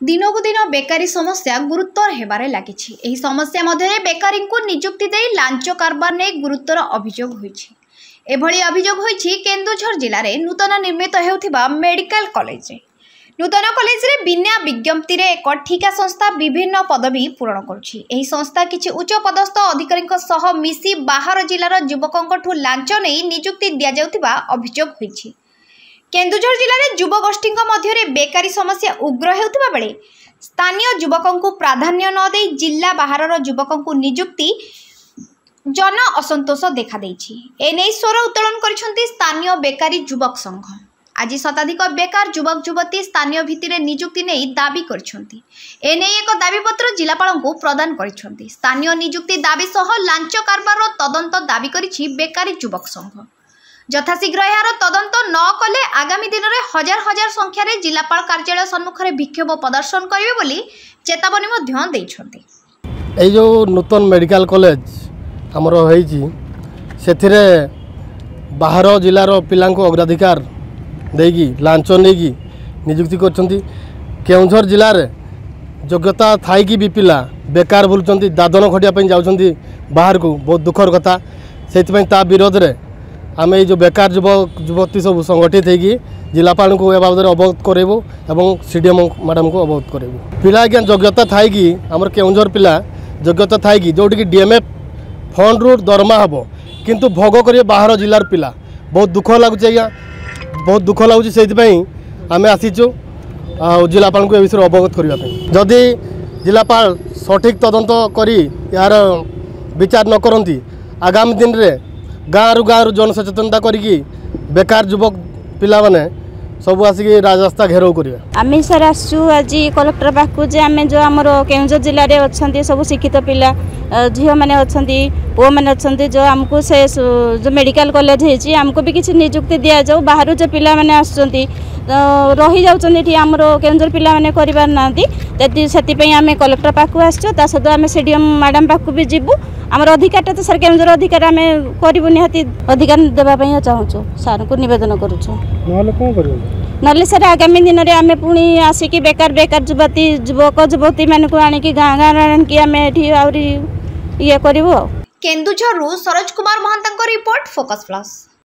ଦିନକୁ ଦିନ ବେକାରୀ ସମସ୍ୟା ଗୁରୁତର ହେବାରେ ଲାଗିଛି। ଏହି ସମସ୍ୟା ମଧ୍ୟରେ ବେକାରୀଙ୍କୁ ନିଯୁକ୍ତି ଦେଇ ଲାଞ୍ଚ କାରବାର ନେଇ ଗୁରୁତର ଅଭିଯୋଗ ହୋଇଛି। ଏଭଳି ଅଭିଯୋଗ ହୋଇଛି କେନ୍ଦୁଝର ଜିଲ୍ଲାରେ ନୂତନ ନିର୍ମିତ ହେଉଥିବା ମେଡିକାଲ କଲେଜରେ। ନୂତନ କଲେଜରେ ବିନା ବିଜ୍ଞପ୍ତିରେ ଏକ ଠିକା ସଂସ୍ଥା ବିଭିନ୍ନ ପଦବୀ ପୂରଣ କରୁଛି। ଏହି ସଂସ୍ଥା କିଛି ଉଚ୍ଚ ପଦସ୍ଥ ଅଧିକାରୀଙ୍କ ସହ ମିଶି ବାହାର ଜିଲ୍ଲାର ଯୁବକଙ୍କଠୁ ଲାଞ୍ଚ ନେଇ ନିଯୁକ୍ତି ଦିଆଯାଉଥିବା ଅଭିଯୋଗ ହୋଇଛି। କେନ୍ଦୁଝର ଜିଲ୍ଲାରେ ଯୁବଗୋଷ୍ଠୀଙ୍କ ମଧ୍ୟରେ ବେକାରୀ ସମସ୍ୟା ଉଗ୍ର ହେଉଥିବା ବେଳେ ସ୍ଥାନୀୟ ଯୁବକଙ୍କୁ ପ୍ରାଧାନ୍ୟ ନ ଦେଇ ଜିଲ୍ଲା ବାହାରର ଯୁବକଙ୍କୁ ନିଯୁକ୍ତି ଜନ ଅସନ୍ତୋଷ ଦେଖାଦେଇଛି। ଏନେଇ ସ୍ୱର ଉତ୍ତୋଳନ କରିଛନ୍ତି ସ୍ଥାନୀୟ ବେକାରୀ ଯୁବକ ସଂଘ। ଆଜି ଶତାଧିକ ବେକାର ଯୁବକ ଯୁବତୀ ସ୍ଥାନୀୟ ଭିତ୍ତିରେ ନିଯୁକ୍ତି ନେଇ ଦାବି କରିଛନ୍ତି। ଏନେଇ ଏକ ଦାବିପତ୍ର ଜିଲ୍ଲାପାଳଙ୍କୁ ପ୍ରଦାନ କରିଛନ୍ତି। ସ୍ଥାନୀୟ ନିଯୁକ୍ତି ଦାବି ସହ ଲାଞ୍ଚ କାରବାରର ତଦନ୍ତ ଦାବି କରିଛି ବେକାରୀ ଯୁବକ ସଂଘ। ଯଥାଶୀଘ୍ର ଏହାର ତଦନ୍ତ ନ କଲେ ଆଗାମୀ ଦିନରେ ହଜାର ହଜାର ସଂଖ୍ୟାରେ ଜିଲ୍ଲାପାଳ କାର୍ଯ୍ୟାଳୟ ସମ୍ମୁଖରେ ବିକ୍ଷୋଭ ପ୍ରଦର୍ଶନ କରିବେ ବୋଲି ଚେତାବନୀ ମଧ୍ୟ ଦେଇଛନ୍ତି। ଏଇ ଯେଉଁ ନୂତନ ମେଡ଼ିକାଲ କଲେଜ ଆମର ହେଇଛି, ସେଥିରେ ବାହାର ଜିଲ୍ଲାର ପିଲାଙ୍କୁ ଅଗ୍ରାଧିକାର ଦେଇକି ଲାଞ୍ଚ ନେଇକି ନିଯୁକ୍ତି କରିଛନ୍ତି। କେଉଁଝର ଜିଲ୍ଲାରେ ଯୋଗ୍ୟତା ଥାଇକି ବି ପିଲା ବେକାର ବୁଲୁଛନ୍ତି, ଦାଦନ ଖଟିବା ପାଇଁ ଯାଉଛନ୍ତି ବାହାରକୁ। ବହୁତ ଦୁଃଖର କଥା। ସେଇଥିପାଇଁ ତା ବିରୋଧରେ ଆମେ ଏଇ ଯେଉଁ ବେକାର ଯୁବକ ଯୁବତୀ ସବୁ ସଂଗଠିତ ହେଇକି ଜିଲ୍ଲାପାଳଙ୍କୁ ଏ ବାବଦରେ ଅବଗତ କରାଇବୁ ଏବଂ ସି ଡି ଏମ୍ ମ୍ୟାଡ଼ାମଙ୍କୁ ଅବଗତ କରାଇବୁ। ପିଲା ଆଜ୍ଞା ଯୋଗ୍ୟତା ଥାଇକି, ଆମର କେଉଁଝର ପିଲା ଯୋଗ୍ୟତା ଥାଇକି, ଯେଉଁଠିକି ଡି ଏମ୍ ଏଫ୍ ଫଣ୍ଡରୁ ଦରମା ହେବ, କିନ୍ତୁ ଭୋଗ କରିବେ ବାହାର ଜିଲ୍ଲାର ପିଲା। ବହୁତ ଦୁଃଖ ଲାଗୁଛି ଆଜ୍ଞା, ବହୁତ ଦୁଃଖ ଲାଗୁଛି। ସେଇଥିପାଇଁ ଆମେ ଆସିଛୁ ଆଉ ଜିଲ୍ଲାପାଳଙ୍କୁ ଏ ବିଷୟରେ ଅବଗତ କରିବା ପାଇଁ। ଯଦି ଜିଲ୍ଲାପାଳ ସଠିକ୍ ତଦନ୍ତ କରି ଏହାର ବିଚାର ନ କରନ୍ତି, ଆଗାମୀ ଦିନରେ ଗାଁରୁ ଗାଁରୁ ଜନସଚେତନତା କରିକି ବେକାର ଯୁବକ ପିଲାମାନେ ସବୁ ଆସିକି ରାଜରାସ୍ତା ଘେରାଉ କରିବେ। ଆମେ ସାର୍ ଆସିଛୁ ଆଜି କଲେକ୍ଟର ପାଖକୁ ଯେ ଆମେ ଯେଉଁ ଆମର କେଉଁଝର ଜିଲ୍ଲାରେ ଅଛନ୍ତି ସବୁ ଶିକ୍ଷିତ ପିଲା, ଝିଅମାନେ ଅଛନ୍ତି, ପୁଅମାନେ ଅଛନ୍ତି, ଯେଉଁ ଆମକୁ ସେ ଯେଉଁ ମେଡ଼ିକାଲ କଲେଜ ହେଇଛି ଆମକୁ ବି କିଛି ନିଯୁକ୍ତି ଦିଆଯାଉ। ବାହାରୁ ଯେଉଁ ପିଲାମାନେ ଆସୁଛନ୍ତି ରହିଯାଉଛନ୍ତି ଏଠି, ଆମର କେଉଁଝର ପିଲାମାନେ କରିପାରୁନାହାନ୍ତି। ସେଥିପାଇଁ ଆମେ କଲେକ୍ଟର ପାଖକୁ ଆସିଛୁ। ତା ସହିତ ଆମେ ସି ଡି ଏମ୍ ମ୍ୟାଡ଼ାମ୍ ପାଖକୁ ବି ଯିବୁ। ଆମର ଅଧିକାରଟା ତ ସାର୍, କେଉଁଝର ଅଧିକାର ଆମେ କରିବୁ, ନିହାତି ଅଧିକାର ଦେବା ପାଇଁ ଚାହୁଁଛୁ, ସାର୍ଙ୍କୁ ନିବେଦନ କରୁଛୁ। ନହେଲେ କ'ଣ କରିବ? ନହେଲେ ସାର୍ ଆଗାମୀ ଦିନରେ ଆମେ ପୁଣି ଆସିକି ବେକାର ଯୁବତୀ ଯୁବକ ଯୁବତୀମାନଙ୍କୁ ଆଣିକି ଗାଁ ଗାଁରେ ଆଣିକି ଆମେ ଏଠି ଆହୁରି ଇଏ କରିବୁ। ଆଉ କେନ୍ଦୁଝରରୁ ସରୋଜ କୁମାର ମହାନ୍ତଙ୍କ ରିପୋର୍ଟ, ଫୋକସ୍ ପ୍ଲସ୍।